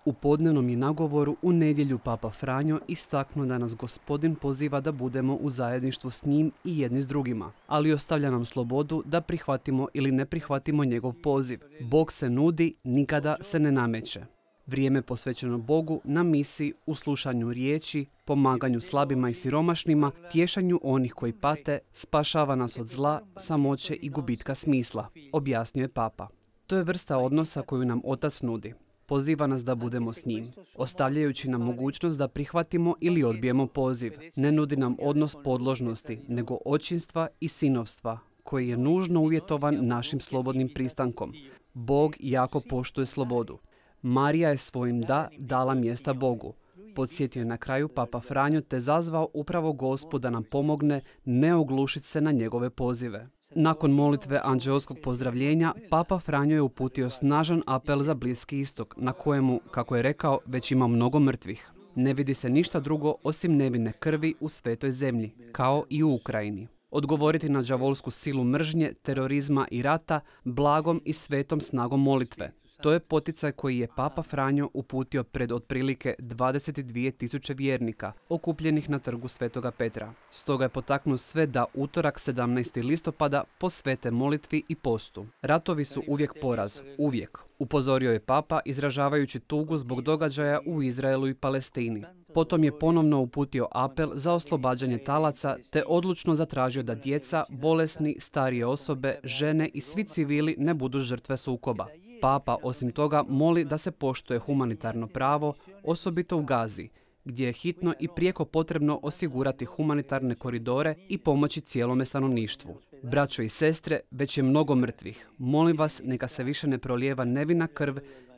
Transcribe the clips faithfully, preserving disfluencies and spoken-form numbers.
U podnevnom je nagovoru u nedjelju Papa Franjo istaknuo da nas Gospodin poziva da budemo u zajedništvu s njim i jedni s drugima, ali ostavlja nam slobodu da prihvatimo ili ne prihvatimo njegov poziv. Bog se nudi, nikada se ne nameće. Vrijeme posvećeno Bogu na misiji, u slušanju riječi, pomaganju slabima i siromašnima, tješanju onih koji pate, spašava nas od zla, samoće i gubitka smisla, objasnio je Papa. To je vrsta odnosa koju nam Otac nudi. Poziva nas da budemo s njim, ostavljajući nam mogućnost da prihvatimo ili odbijemo poziv. Ne nudi nam odnos podložnosti, nego očinstva i sinovstva, koji je nužno uvjetovan našim slobodnim pristankom. Bog jako poštuje slobodu. Marija je svojim da dala mjesta Bogu. Podsjetio je na kraju Papa Franjo te zazvao upravo Gospoda nam pomogne ne oglušiti se na njegove pozive. Nakon molitve anđeoskog pozdravljenja, Papa Franjo je uputio snažan apel za Bliski istok, na kojemu, kako je rekao, već ima mnogo mrtvih. Ne vidi se ništa drugo osim nevine krvi u svetoj zemlji, kao i u Ukrajini. Odgovoriti na đavolsku silu mržnje, terorizma i rata blagom i svetom snagom molitve. To je poticaj koji je Papa Franjo uputio pred otprilike dvadeset dvije tisuće vjernika, okupljenih na trgu Svetoga Petra. Stoga je potaknuo sve da utorak sedamnaestog listopada posvete molitvi i postu. Ratovi su uvijek poraz, uvijek, upozorio je Papa izražavajući tugu zbog događaja u Izraelu i Palestini. Potom je ponovno uputio apel za oslobađanje talaca te odlučno zatražio da djeca, bolesni, starije osobe, žene i svi civili ne budu žrtve sukoba. Papa osim toga moli da se poštuje humanitarno pravo, osobito u Gazi, gdje je hitno i prijeko potrebno osigurati humanitarne koridore i pomoći cijelome stanovništvu. Braćo i sestre, već je mnogo mrtvih. Molim vas, neka se više ne prolijeva nevina krv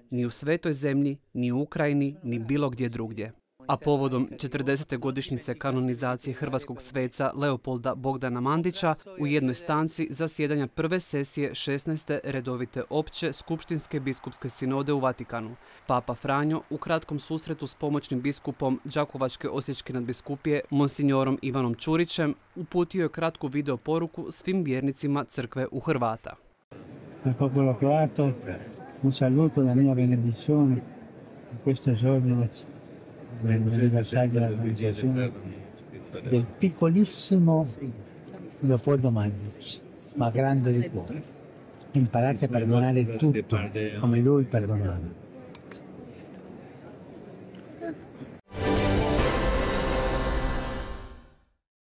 ni u svetoj zemlji, ni u Ukrajini, ni bilo gdje drugdje. A povodom četrdesete godišnjice kanonizacije hrvatskog sveca Leopolda Bogdana Mandića u jednoj stanci zasjedanja prve sesije šesnaeste redovite opće skupštinske biskupske sinode u Vatikanu. Papa Franjo u kratkom susretu s pomoćnim biskupom Đakovačke osječke nadbiskupije monsignorom Ivanom Čurićem uputio je kratku video poruku svim vjernicima crkve u Hrvata. Al popolo croato un saluto, la mia benedizione in questo giorno dell'anniversario della canonizzazione del piccolissimo Leopoldo Mandić, ma grande di cuore. Imparate a perdonare tutto come lui perdonava.